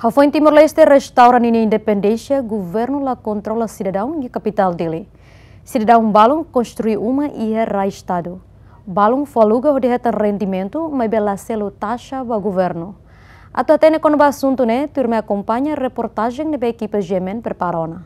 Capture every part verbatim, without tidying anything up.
Hafoin Timor-Leste restaura ninia independénsia, governu la kontrola sidadaun iha kapitál Dili. Sidadaun balun konstrui uma iha rai Estadu. Balun fó aluga hodi hetan rendimentu, maibé la selu taxa ba governu. Atu hatene kona-ba asuntu ne'e, tuirmai akompaña reportajen ne'ebé ekipa G M N prepara ona.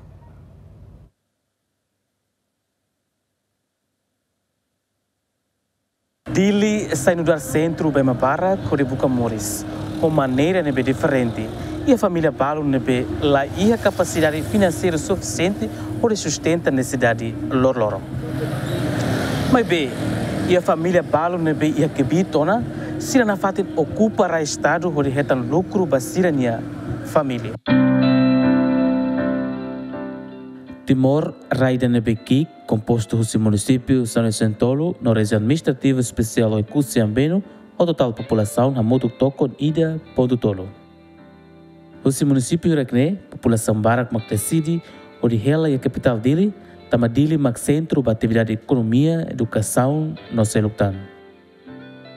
Dili sai nu'udar sentru ba ema barak hodi buka moris, ho maneira ne'ebé diferente. Iha família balun ne'ebé la iha kapasidade finanseiru sufisiente hodi sustenta nesesidade loroloron. Maibé, iha família balun ne'ebé iha kbiit ona, sira nafatin okupa rai Estadu hodi hetan lukru ba sira-nia família. Timor, rai ida ne'ebé ki'ik, kompostu husi munisípiu sanulu-resin-tolu no rejiaun administrativa espesiál Oekusi Ambenu, ho totál populasaun hamutuk tokon ida pontu tolu. Husi munisípiu hirak-ne'e, populasaun barak mak deside hodi hela iha kapitál Dili, tanba Dili mak sentru ba atividade ekonomia, edukasaun no seluk tan.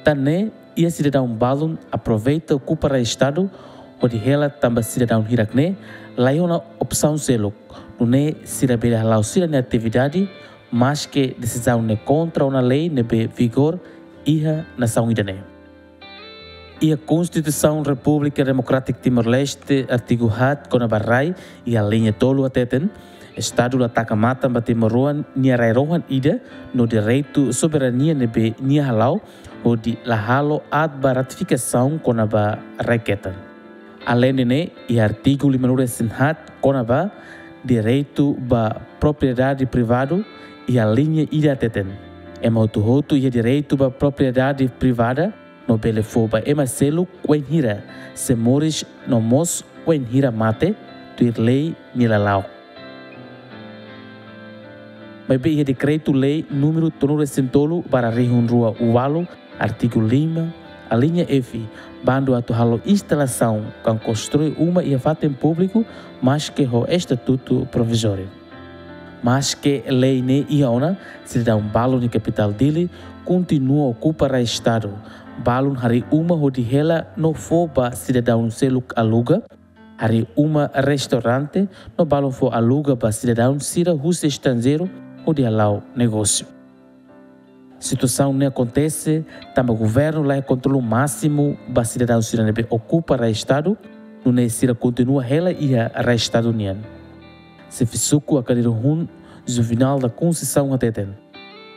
Tan ne'e, iha sidadaun balun aproveita okupa rai Estadu hodi hela tanba sidadaun hirak-ne'e la iha ona opsaun seluk, nune'e sira bele hala'o sira-nia atividade, maske desizaun ne'e kontra ona lei ne'ebé vigora iha nasaun ida-ne'e. Iha Konstituisaun Repúblika Demokrátika Timor-Leste, artigu haat kona-ba rai, iha liña tolu hateten, Estadu la taka matan ba timoroan nia rai rohan ida no direitu soberania ne'ebé nia hala'o hodi la halo aat ba ratifikasaun kona-ba rai ketan. Aleinde ne'e, iha artigu limanulu-resin-haat kona-ba direitu ba propriedade privadu, iha liña ida hateten, ema hotu-hotu iha direitu ba propriedade privada, no bele fó ba ema seluk wainhira sei moris no mós wainhira mate, tuir lei nia lala'ok. Maibé iha Dekretu-Lei númeru tolunulu-resin-tolu barra rihun rua ualu, artigu lima, aliña F, bandu atu halo instalasaun ka konstrui uma iha fatin públiku, maske ho estatutu provizóriu. Maske lei ne'e iha ona, sidadaun balun iha kapitál Dili kontinua okupa rai Estadu. Balun harii uma hodi hela no fó ba sidadaun seluk aluga, harii uma restaurante, no balun fó aluga ba sidadaun sira husi estranjeiru hodi hala'o negósiu. Situasaun ne'e akontese tanba governu la iha kontrolu másimu ba sidadaun sira ne'ebé okupa rai Estadu, nune'e sira kontinua hela iha rai Estadu nian. Xefe suku Akadiru-hun, Juvenal da Conceição, hateten,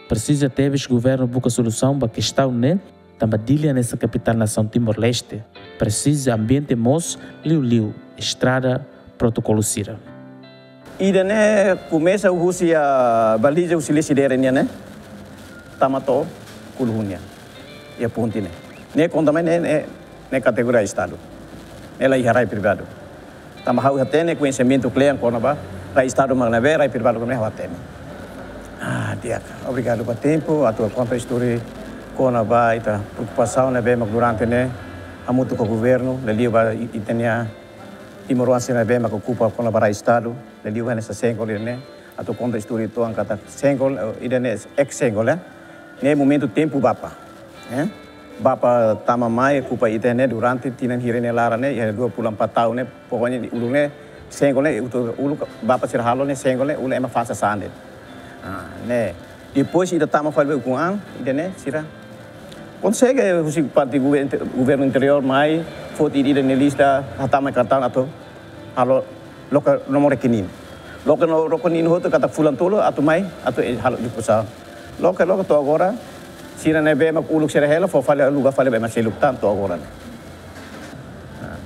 presiza tebes governu buka solusaun ba kestaun ne'e, tanba Dili hanesan kapitál nasaun Timor-Leste, presiza ambiente moos, liuliu estrada, protokolu sira. Ida-ne'e komesa husi iha baliza husi Lecidere nian ne'e, tama to'o Kulu-hun nian, iha ponte ne'e. Ne'e konta mai ne'e, ne'e, ne'e kategoria Estadu. Ne'e la iha rai privadu. Tanba ha'u hatene koñesimentu kle'an kona-ba rai Estadu mak ne'ebé, rai privadu mak ne'ebé ha'u hatene. Ah, di'ak. Obrigadu ba tempu atu konta istória kona-ba ita preokupasaun ne'ebé mak durante ne'e hamutuk ho governu, liuliu ba i-, ita-nia timoroan sira ne'ebé mak okupa kona-ba rai Estadu, liuliu hanesan Sengol ne'e. Atu konta istória uitoan katak Sengol, eh, ida-ne'e ex Sengol, eh. Ne'e momentu tempu Bapa. Eh? Bapa tama mai okupa ita ne'e durante tinan hira nia laran ne'e, iha dua puluh empat tahun ne'e, pokoknya uluk ne'e, Sengol ne'e, uluk, uluk Bapa sira halo ne'e, Sengol ne'e, uluk ema fasa sande. Ah, ne'e. Depois ida tama fali ba ukun an, ida-ne'e, sira konsege husi parte gover-, governu interiór mai, foti ida-ne'e lista, hatama kartaun atu halo loke nomor rekening. Loke no-, rekening hotu katak fulan tolu atu mai, atu, eh, halo dispozasaun. Loke, loke to'o agora, sira ne'ebé mak uluk sira hela, fó fali aluga fali ba ema seluk tan to'o agora ne'e. Nah.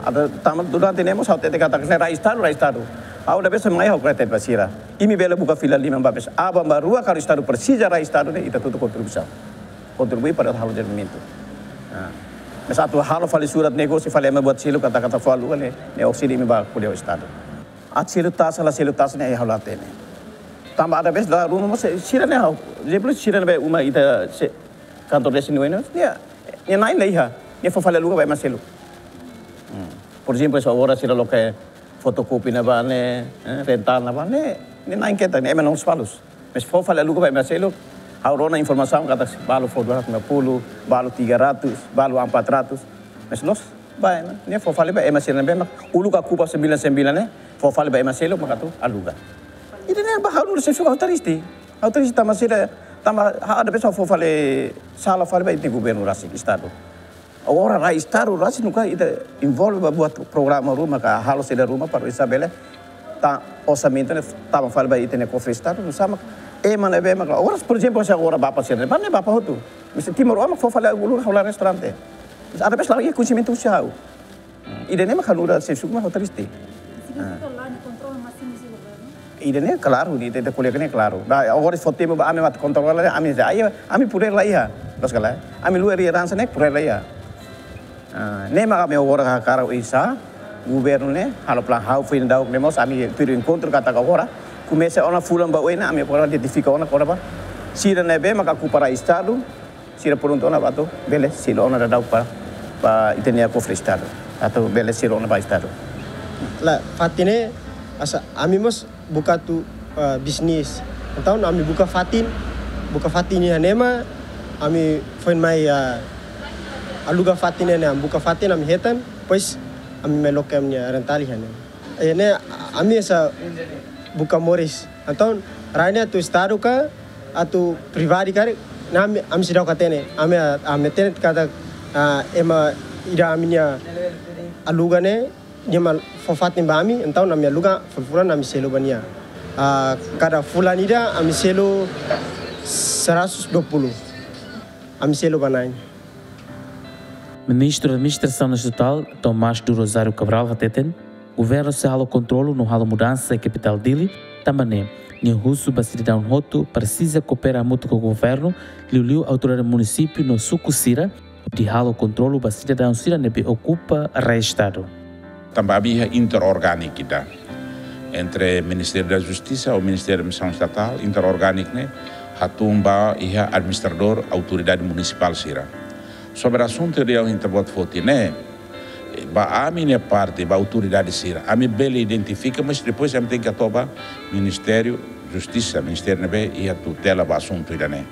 Atu tanba durante ne'e mós ha'u hatete katak ne'e rai Estadu, rai Estadu. Ha'u ida-ne'ebé mai ha'u kretete ba sira. Imi bele buka fila liman ba bes. Aban-bainrua karik Estadu presiza rai Estadu ne'e, ita tutu kontribuisaun. Kontribui para halo dezenvolvimentu. Nah. Mas atu halo fali surat negósiu fali ema buat seluk katak, katak fó aluga ne'e, ne'e okside imi ba ko'alia ho Estadu. Atu selu taxa, la selu taxa ne'e ha'u la hatene. Tanba ida-ne'ebé dala ruma mós sira ne'e ha'u. Ezemplu sira ne'ebé uma ita se kantor desa nia oin ne'e, nia, nia na'in la iha, nia fó fali aluga ba ema seluk. Hmm. Por ezemplu, se agora sira loke fotokópia ne'ebá ne'e, eh, rental ne'ebá ne'e, nia na'in ketak, ne'e ema na'in-lolos. Mas fó fali aluga ba ema seluk, ha'u rona informasaun katak balu fó dua ratus lima puluh, balu tiga ratus, balu empat ratus. Mas loos, Ba ema, ne'e fó fali ba ema sira ne'ebé mak uluk okupa sembilan sembilan ne'e, fó fali ba ema seluk mak atu aluga. Ida-ne'e ba ha'u nu'udar xefe suku ha'u triste. Ha'u triste tanba sira, tanba ha'u ada pesoál fó fali sala fali ba ita-nia governu rasik, estadu. Agora rai estadu rasik nunka ita envolve ba buat programa ruma ka halo saida ruma para oinsá bele tau orsamentu ne'e tama fali ba ita-nia kofre estadu, nusá mak ema ne'ebé mak, agora, por ezemplu, se agora Bapa sira ne'e, ba ne'e Bapa hotu. Mesti Timor-Leste mak fó fali uluk ha'u la'o restaurante. Ada pesoál la'ós iha koñesimentu husi ha'u. Ida-ne'e mak ha'u nu'udar xefe suku mak ha'u triste. Significa la kontrola másimu husi governu? Ida-ne'e klaru, ita, ita ko'alia ne'e klaru. Ba, agora fó tempu ba ami atu kontrola, ami dehan, ami poder la iha. Loos ka lae? Ami luar iha ransa ne'e poder la iha. Ah, ne'e mak ami agora hakarak oinsá governu ne'e halo planu, ha'u foin daudauk ne'e mós ami tuir enkontru katak agora komesa ona fulan ba oin ne'e ami agora identifika ona agora ba sira ne'ebé mak okupa rai estadu, sira prontu ona ba atu bele selu ona daudauk ba, ba ita-nia kofre estadu, atu bele selu ona ba estadu. La, fatin ne'e, hanesan ami mós buka atu, eh, bisnis. Entaun ami buka fatin, buka fatin iha ne'ebá, ami foin mai, eh, aluga fatin iha ne'e, ami buka fatin ami hetan, depois ami mai loke ami-nia rental iha ne'e. Eh, ne'e ami hanesan buka moris. Entaun rai ne'e atu estadu ka, atu privadu ka, ne'e ami, ami seidauk hatene. Ami, ami hatene katak, ah, ema ida ami-nia aluga ne'e, nia mak fó fatin ba ami, entaun ami aluga fulan-fulan ami selu ba nia. Ah, kada fulan ida ami selu seratus dua puluh. Ami selu ba na'in. Ministru Administrasaun Estatál, Tomás do Rosário Cabral, hateten, governu sei halo kontrolu no halo mudansa iha kapitál Dili, tanba ne'e, nia husu ba sidadaun hotu presiza koopera hamutuk ho governu, liuliu autoridade munisípiu no suku sira, hodi halo kontrolu ba sidadaun sira ne'ebé okupa rai estadu. Tanba ami iha interorgâniku ida entre Ministériu da Justisa ho Ministériu Administrasaun Estatál, interorgâniku ne'e hatún ba iha administradór autoridade munisipál sira. Sobre asuntu ida ohin ita-boot foti ne'e, ba ami-nia parte, ba autoridade sira, ami bele identifika, mas depois ami tenke hato'o ba Ministériu Justisa, ministériu ne'ebé iha tutela ba asuntu ida-ne'e.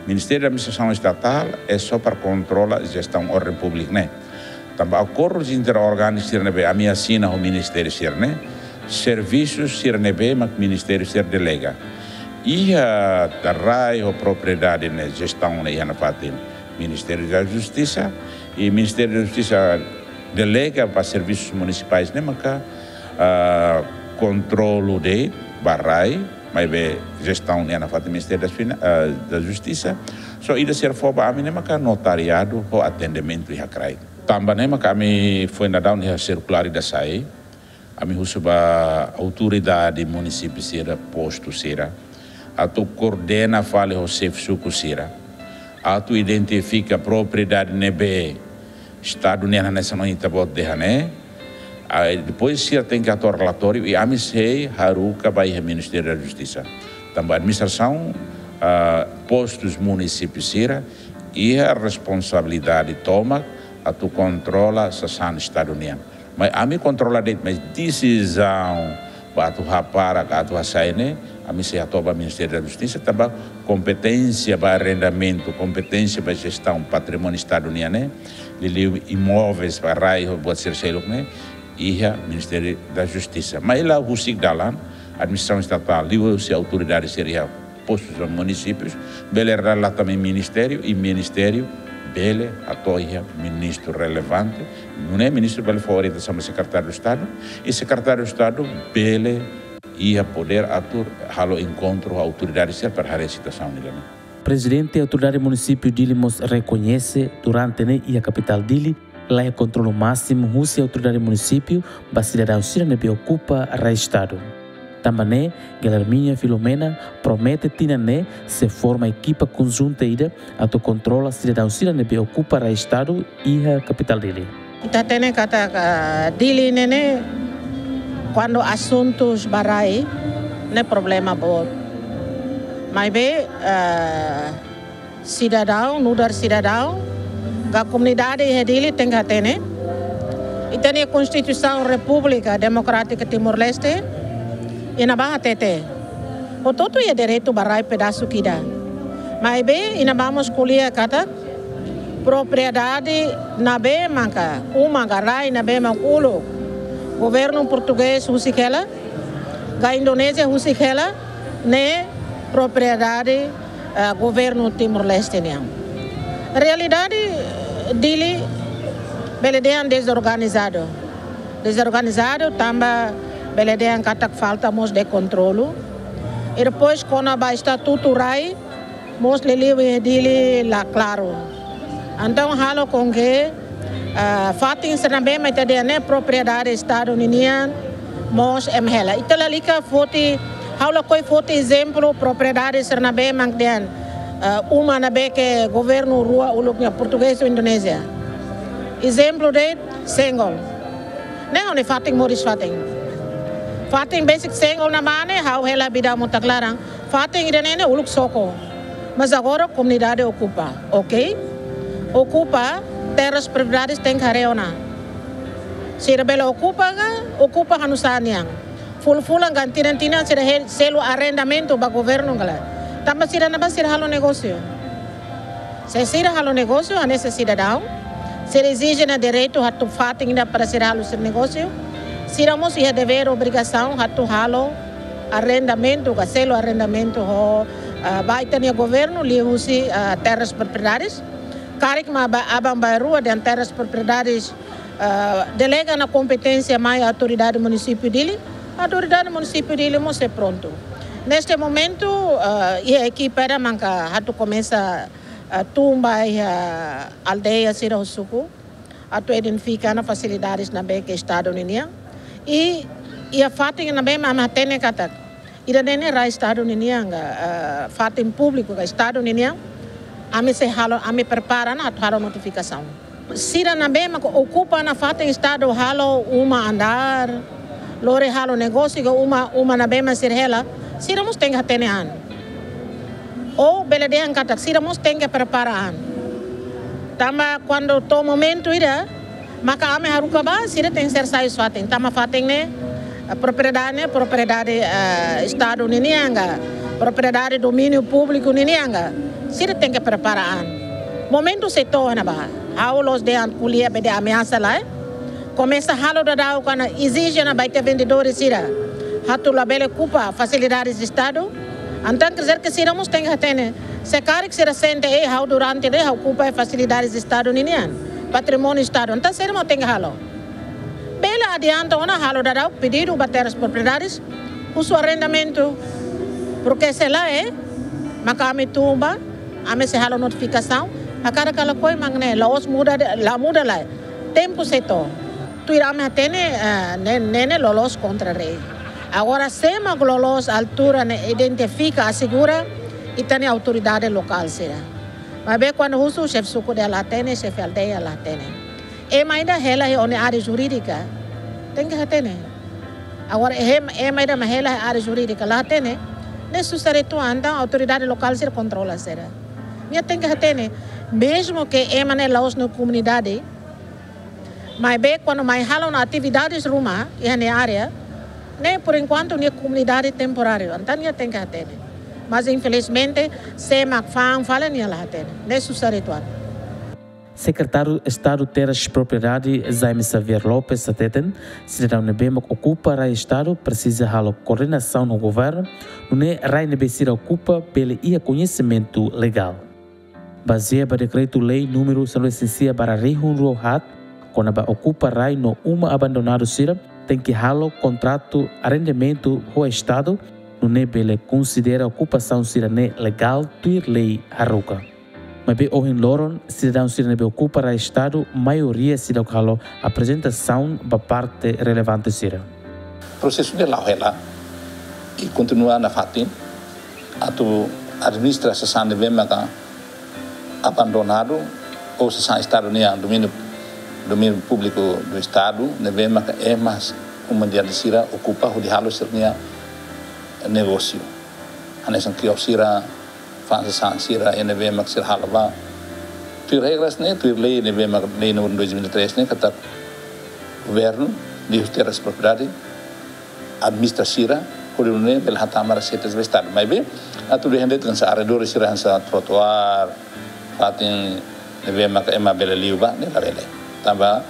Ministériu Administrasaun Estatál é só para kontrola jestaun orden públika ne'e. Tanba akordu interorgâniku sira ne'ebé ami asina ho ministériu sira-ne'e, servisu sira ne'ebé mak ministériu sira delega. Iha rai ho propriedade ne'e, jestaun ne'e iha nafatin Ministériu da Justisa, i Ministériu da Justisa delega ba servisus munisipais ne'e maka, ah, kontrolu de'it ba rai, maibé jestaun ne'e iha nafatin Ministériu das Fina-, ah, da Justisa. Só ida sira fó ba ami ne'e maka notariadu ho atendimentu iha kraik. Tanba ne'e maka ami foin daudaun iha sirkulár ida sai, ami husu ba autoridade munisípiu sira, postu sira, atu koordena fali ho xefe suku sira, atu identifika propriedade ne'ebé estadu nian hanesan ohin ita-boot dehan ne'e. Ah, depois sira tenke hato'o relatóriu i ami sei haruka ba iha Ministériu da Justisa. Tanba administrasaun, ah, postus munisípiu sira iha responsabilidade tomak atu kontrola sasán estadu nian. Maibé ami kontrola de'it, maibé desizaun ba atu hapara ka atu hasai ne'e, ami sei hato'o ba Ministériu da Justisa, tanba kompeténsia ba arrendamentu, kompeténsia ba jestaun patrimóniu estadu nian ne'e, liuliu imóveis ba rai ho buat sira seluk ne'e, iha Ministériu da Justisa. Maibé la husik dalan, administrasaun estatál, liuhusi autoridade sira iha postus no munisípius, bele relata mai ministériu, i ministériu bele hato'o iha ministru relevante, nune'e ministru bele fó orientasaun ba Sekretáriu Estadu, i Sekretáriu Estadu bele iha podér atu halo enkontru ho autoridade sira para haree situasaun ida-ne'e. Prezidente Autoridade Munisípiu Dili mós rekoñese, durante ne'e iha kapitál Dili, la iha kontrolu másimu husi autoridade munisípiu ba sidadaun sira ne'ebé okupa rai estadu. Tanba ne'e, Guilhermina Filomena promete tinan ne'e sei forma ekipa konjunta ida atu kontrola sidadaun sira ne'ebé okupa rai estadu iha kapitál Dili. Ita hatene katak, ah, Dili ne'e ne'e, kuandu asuntus ba rai, ne'e problema boot. Maibé, ah, sidadaun, nu'udar sidadaun, ka komunidade iha Dili tenke hatene. Ita-nia Konstituisaun Repúblika Demokrátika Timor-Leste, iha ne'ebá hatete, hotu-hotu iha direitu ba rai pedasuk ida. Maibé, iha ne'ebá mós ko'alia katak, Propriedade ne'ebé maka, uma ka rai ne'ebé mak uluk governu portugés husik hela, ka Indonézia husik hela, ne'e propriedade, eh, governu Timor-Leste nian. Realidade, Dili, bele dehan dezorganizadu. Dezorganizadu tanba bele dehan katak falta mós de kontrolu. I depois kona-ba estatutu rai, mós liuliu iha Dili la klaru. Entaun halo com que, ah, fatin sira ne'ebé mak ita dehan ne'e propriedade Estadu ninian, mós ema hela. Ita lalika foti, ha'u lakohi foti ezemplu propriedade sira ne'ebé mak dehan, ah, uma ne'ebé ke governu rua uluk nian, portugés ou Indonézia. Ezemplu de'it Senggol. Ne'e ha'u-nia fatin moris fatin. Fatin besik Senggol ne'ebá ne'e, ha'u hela bida mota klaran. Fatin ida-ne'e ne'e uluk Soko. Mas agora komunidade okupa, ok? Okupa, terras propriedades tenke haree ona. Sira bele okupa ka, okupa halo nu'usá nian. Fulan-fulan ka tinan-tinan sira he-, selu arrendamentu ba governu ka lae. Tanba sira ne'ebá sira halo negósiu. Se sira halo negósiu, hanesan sidadaun, sira ezije ona direitu atu fatin ida para sira halo sira negósiu. Sira mós iha devér, obrigasaun atu halo arrendamentu, ka selu arrendamentu ho, ah, ba ita-nia governu, liuhusi, ah, terras propriedades. Karik mak ba, aban-bainrua dehan terras propriedades, ah, delega ona kompeténsia mai autoridade munisípiu Dili, autoridade munisípiu Dili mós sei prontu. Neste momentu, ah, iha ekipa ida maka atu komesa, ah, tun ba iha aldeia sira ho suku, atu identifika ona fasilidades ne'ebé ke Estadu ninian. I, iha fatin ne'ebé mak ami hatene katak ida-ne'e ne'e rai Estadu ninian ka, eh, fatin públiku ka Estadu ninian, ami sei halo, ami prepara ona atu halo notifikasaun. Sira ne'ebé mak okupa ona fatin Estadu halo uma andár, lori halo negósiu ka uma, uma ne'ebé mak sira hela, sira mós tenke hatene an. Ou bele dehan katak sira mós tenke prepara an. Tanba kuandu to'o momentu ida, maka ami haruka ba, sira tenke ser sai husi fatin. Tanba fatin ne'e, eh, propriedade ne'e, propriedade, eh, Estadu ninian ka, propriedade domíniu públiku ninian ka, sira tenke prepara an. Momentu sei to'o ona ba. Ha'u la'ós dehan ko'alia be dehan ameasa lae. Komesa halo daudaun ona, ezije ona ba ita vendedór sira atu labele okupa fasilidades Estadu. Entaun, quer dizer que sira mós tenke hatene. Se karik sira sente, eh, ha'u durante ne'e ha'u okupa fasilidades Estadu ninian, patrimóniu Estadu. Entaun, sira mós tenke halo. Bele adianta ona halo daudaun pedidu ba terras propriedades, husu arrendamentu. Porque se lae, maka ami tun ba, ami sei halo notifikasaun, hakarak ka lakohi mak ne'e, la'ós muda de'it, la muda lae. Tempu sei to'o. Tuir ami hatene, eh, ne'e, ne'e, ne'e loloos kontra lei. Agora, sé mak loloos altura ne'e identifika, asegura, ita-nia autoridade lokál sira. Maibé kuandu husu xefe suku dehan la hatene, xefe aldeia la hatene. Ema ida hela iha ó-nia área jurídika, tenke hatene. Agora, ema, ema ida mak hela iha área jurídika la hatene, ne'e susar uitoan, entaun autoridade lokál sira kontrola sira. Nia tenke hatene, mezmu ke ema ne'e la'ós nia komunidade, maibé kuandu mai halo ona atividades ruma iha nia área, ne'e por enkuantu nia komunidade temporáriu, entaun nia tenke hatene. Mas infelizmente, sé mak fa'an fali nia la hatene. Ne'e susar uitoan. Sekretáriu Estadu Terras Propriedade, Jaime Xavier Lopes, hateten, sidadaun ne'ebé mak okupa rai Estadu presiza halo koordenasaun ho governu, nune'e rai ne'ebé sira okupa bele iha koñesimentu legál. Bazeia ba Dekretu-Lei númeru sanulu-resin-sia barra rihun rua haat, kona-ba okupa rai no uma abandonadu sira, tenke halo kontratu arrendamentu ho Estadu, nune'e bele konsidera okupasaun sira-ne'e legál tuir lei haruka. Maibé ohin loron, sidadaun sira ne'ebé okupa rai Estadu, maioria seidauk halo aprezentasaun ba parte relevante sira. Prosesu ne'e la'o hela, i kontinua nafatin, atu administra sasán ne'ebé maka abandonadu, ou sasán Estadu nian, domíniu, domíniu públiku do Estadu, ne'ebé maka ema, komunidade sira okupa hodi halo sira-nia negósiu. Hanesan kios sira, fa'an sasán sira, iha ne'ebé mak sira halo ba. Tuir regras ne'e, tuir lei ne'ebé mak lei númeru dois mil e três ne'e, katak governu, liuhusi terras propriedade, administra sira, hodi nune'e bele hatama reseitas ba Estadu. Maibé, atu dehan de'it hanesan arredores sira hanesan trotoar, fatin ne'ebé maka ema bele liu ba, ne'e labele. Tanba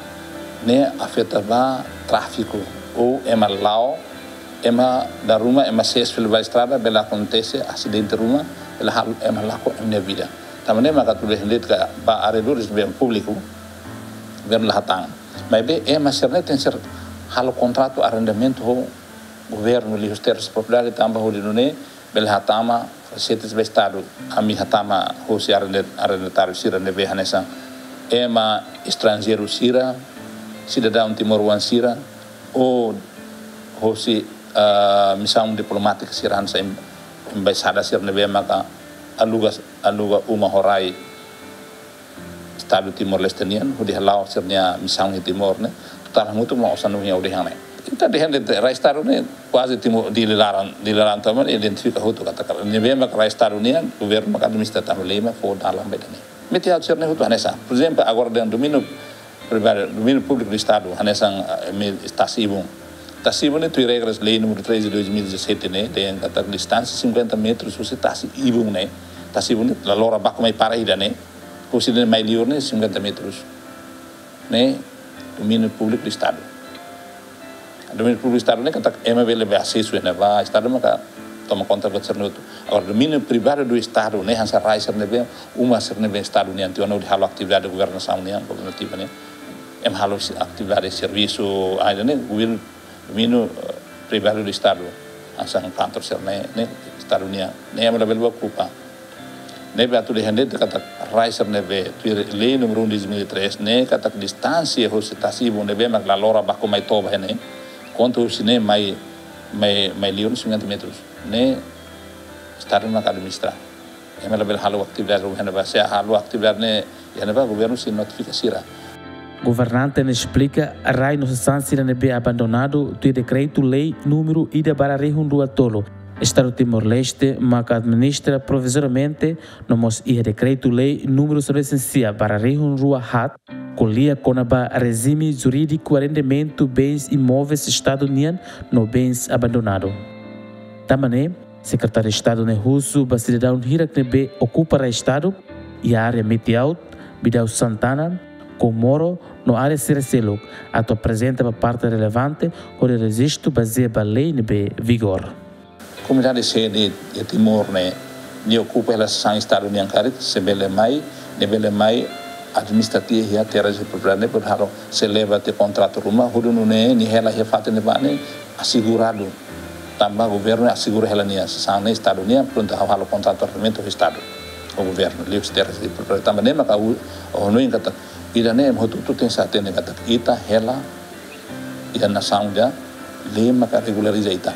ne'e afeta ba tráfiku, ou ema la'o, ema dala ruma, ema sees fila ba estrada, bele akontese asidente ruma, bele halo ema lakon ema nia vida. Tanba ne'e maka atu dehan de'it katak ba arredores ne'ebé públiku, governu la hatán. Maibé ema sira-ne'e tenke halo kontratu arrendamentu ho governu liuhusi terras propriedade, tanba hodi nune'e bele hatama fasilidade ba Estadu. Ami hatama husi arrenda-, arrendatáriu sira ne'ebé hanesan ema estranjeiru sira, sidadaun timoroan sira, ou husi, ah, misaun diplomátika sira hanesan em-, embaixada sira ne'ebé maka aluga, aluga uma ho rai Estadu Timor-Leste nian, hodi hala'o sira-nia misaun iha Timor ne'e, total hamutuk mak osan ne'e hodi hane. Ita dehan de'it rai Estadu ne'e kuaze Timor, Dili laran, Dili laran to'o mai identifika hotu katak ne'ebé mak rai Estadu nian, governu mak administra tanba lei mak fó dalan ba ida-ne'e. Meti-aut sira-ne'e hotu hanesan. Por ezemplu, agora dehan domíniu privadu, domíniu públiku do Estadu, hanesan, eh, mi-, tasi-ibun. Tasi-ibun ne'e tuir regras lei número três de dois mil e dezassete ne'e, dehan katak distánsia cinquenta metros husi tasi-ibun ne'e. Tasi-ibun ne'e la lora baku mai para ida ne'e. Husi ne'e mai liur ne'e cinquenta metros. Ne'e domíniu públiku do Estadu. Domíniu públiku do Estadu ne'e katak ema bele bá asesu iha ne'ebá, Estadu maka toma konta buat sira-ne'e hotu. Agora, domíniu privadu do Estadu ne'e hanesan rai sira ne'ebé, uma sira ne'ebé Estadu nian tiha ona hodi halo atividade governasaun nian, governativa nian. Ema halo si-, atividade servisu, ah, ida-ne'e governu, domíniu, eh, privadu do Estadu. Hanesan kantor sira-ne'e, ne'e Estadu nian. Ne'e ema labele bá okupa. Ne'ebé atu dehan de'it katak rai sira ne'ebé tuir lei número um de dois mil e três ne'e katak distánsia husi tasi-ibun ne'ebé mak la lora baku mai toba iha ne'e. Konta husi ne'e mai, mai, mai liur cinquenta metros. Ne'e Estadu mak administra. Ema labele halo atividade iha ne'ebá, se halo atividade ne'e iha ne'ebá governu sei notifika sira. Governante ne'e esplika, rai no sasán sira ne'ebé abandonadu tuir dekretu-lei número ida barra rihun rua tolu. Estadu Timor-Leste maka administra provizoriamente, no mós iha dekretu-lei número sanulu-resin-sia barra rihun rua haat, ko'alia kona-ba rejime jurídiku arrendamentu bens imóveis Estadu nian no bens abandonadu. Tanba ne'e, Sekretáriu Estadu ne'e husu ba sidadaun hirak ne'ebé okupa rai Estadu, iha área Meti-Aut, Bidau Santana, Comoro, no área sira seluk, atu aprezenta ba parte relevante, hodi rejistu bazeia ba lei ne'ebé vigor. Komunidade sede iha Timor ne'e, nia okupa hela sasán Estadu nian karik, sei bele mai, nia bele mai administra tiha iha terras de propriedade ne'e, hodi halo, sei leba tiha kontratu ruma, hodi nune'e, nia hela iha fatin ne'ebá ne'e aseguradu. Tanba governu asegura hela nia sasán ne'e Estadu nian, prontu halo kontratu arrendamentu ho Estadu, ho governu, liuhusi terras de propriedade. Tanba ne'e maka ha'u, ha'u hanoin katak, ida-ne'e ema hotu-hotu tenke hatene katak ita hela iha nasaun ida, lei maka regulariza ita.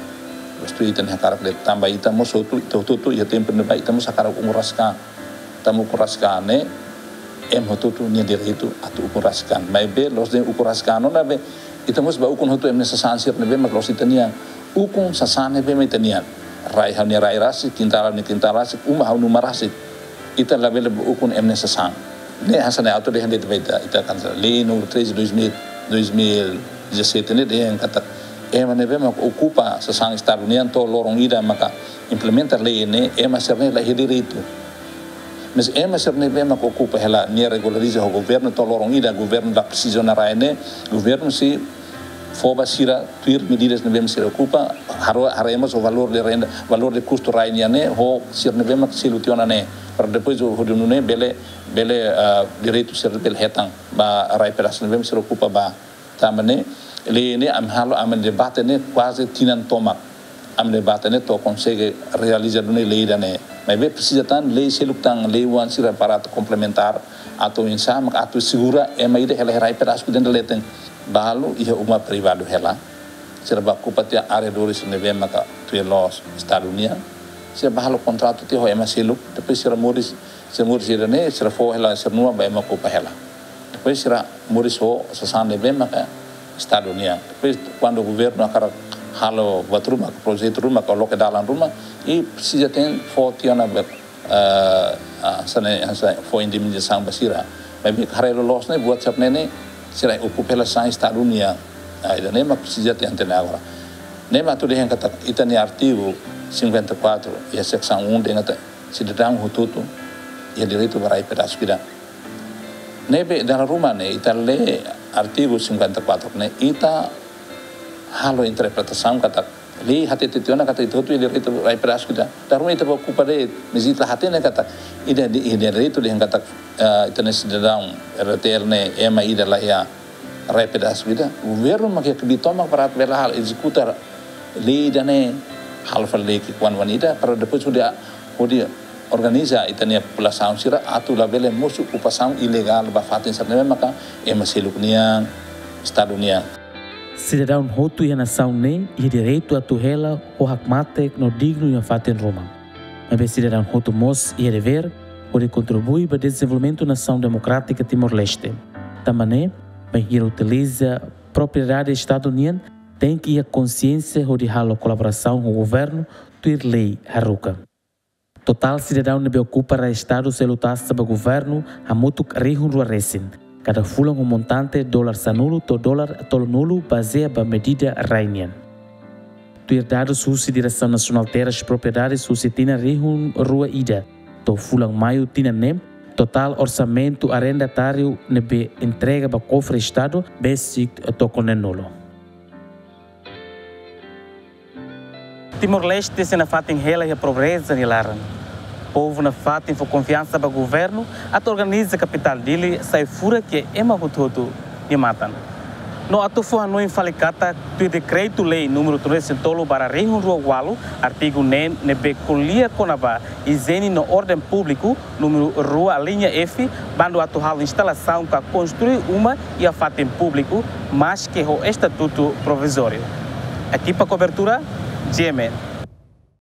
Bainhira ita-nia hakarak de'it, tanba ita mós hotu, ita hotu-hotu iha tempu ne'ebá ita mós hakarak ukun rasik an. Tanba ukun rasik an ne'e, ema hotu-hotu nia direitu atu ukun rasik an. Maibé la'ós de'it ukun rasik an ona be, ita mós bá ukun hotu ema nia sasán sira ne'ebé mak la'ós ita-nian. Ukun sasán ne'ebé mak ita-nian. Rai ha'u-nia rai rasik, kintál ha'u-nia kintál rasik, uma ha'u-nia uma rasik. Ita labele bá ukun ema nia sasán. Ne'e hanesan ne'e atu dehan de'it ba ita, ita kan lei número treze de dois mil, dois mil e dezassete ne'e dehan katak ema ne'ebé mak okupa sasán Estadu nian to'o loron ida maka implementa lei ne'e, ema sira-ne'e la iha direitu. Mas ema sira ne'ebé mak okupa hela, nia regulariza ho governu to'o loron ida, governu la presiza ona rai ne'e, governu sei fó ba sira tuir medidas ne'ebé mak sira okupa, haro-, haree mós ho valór de renda, valór de kustu rai nian ne'e, ho sira ne'ebé mak selu tiha ona ne'e. Para depois hodi nune'e bele, bele, ah, direitu sira bele hetan ba rai pedasu ne'ebé mak sira okupa ba. Tanba ne'e, lei ne'e ami halo, ami debate ne'e kuaze tinan tomak. Ami debate ne'e to'o konsege realiza duni lei ida-ne'e. Maibé presiza tan lei seluk tan, lei oan sira para atu komplementár, atu oinsá mak atu segura ema ida hela iha rai pedasu ida-ne'e leten. Balu iha uma privadu hela. Sira bá okupa tiha arredores ne'ebé maka tuir loos Estadu nian. Sira bá halo kontratu tiha ho ema seluk, depois sira moris, sira moris ida-ne'e, sira fó hela sira-nia uma ba ema okupa hela. Depois sira moris ho sasán ne'ebé maka Estadu nian. Depois, kuandu governu hakarak halo buat ruma, projetu ruma, ka loke dalan ruma, i presiza tenke fó tiha ona be, eh, ah, hanesan ne'e, hanesan ne'e, fó indemnizasaun ba sira. Maibé haree loloos ne'e, buat sira-ne'e ne'e, sira okupa hela sasán Estadu nian. Ah, ida-ne'e mak presiza tenke hatene agora. Ne'e mak atu dehan katak ita-nia artigu cinquenta e quatro, iha seksaun um, dehan katak sidadaun hotu-hotu iha direitu ba rai pedasu ida. Ne'ebé dala ruma ne'e ita lee artigu cinquenta e quatro ne'e, ita halo interpretasaun katak lei hatete tiha ona katak ita hotu iha direitu rai pedasku ida. Dala ruma ita bá okupa de'it, mas ita la hatene katak ida di, ida direitu dehan katak, eh, ita-nia sidadaun R T L ne'e ema ida la iha rai pedasku ida. Governu mak iha kbiit tomak para atu bele halo ezekuta lei ida-ne'e, halo fali lei ki'ikoan oan ida, para depois hodi, hodi organiza ita-nia populasaun sira atu labele mosu okupasaun ilegál ba fatin sira ne'ebé maka ema seluk nian, Estadu nian. Sidadaun hotu iha nasaun ne'e iha direitu atu hela ho hakmatek no dignu iha fatin ruma. Maibé sidadaun hotu mós iha devér hodi kontribui ba dezenvolvimentu nasaun demokrátika Timor-Leste. Tanba ne'e, bainhira utiliza propriedade Estadu nian, tenke iha konsiénsia hodi halo kolaborasaun ho governu tuir lei haruka. Totál sidadaun ne'ebé okupa rai Estadu selu taxa ba governu hamutuk rihun rua resin kada fulan, ho montante dolar sanulu to'o dolar tolunulu, bazeia ba medida rai nian. Tuir dadus husi Diresaun Nasionál Terras Propriedades, husi tinan rihun rua ida to'o fulan Maiu tinan ne'e, totál orsamentu arrendatáriu ne'ebé entrega ba kofre Estadu besik tokon neenulu. Timor-Leste sei nafatin hela iha pobreza nia laran. Povu nafatin fó konfiansa ba governu atu organiza kapitál Dili sai furak iha ema hotu-hotu nia matan. No atu fó hanoin fali katak, tuir dekretu-lei númeru tolunulu resin tolu barra rihun rua ualu, artigu neen ne'ebé ko'alia kona-ba ijiene no orden públiku, númeru rua alínea F, bandu atu halo instalasaun ka konstrui uma iha fatin públiku, maske ho estatutu provizóriu. Ekipa kobertura, G M N.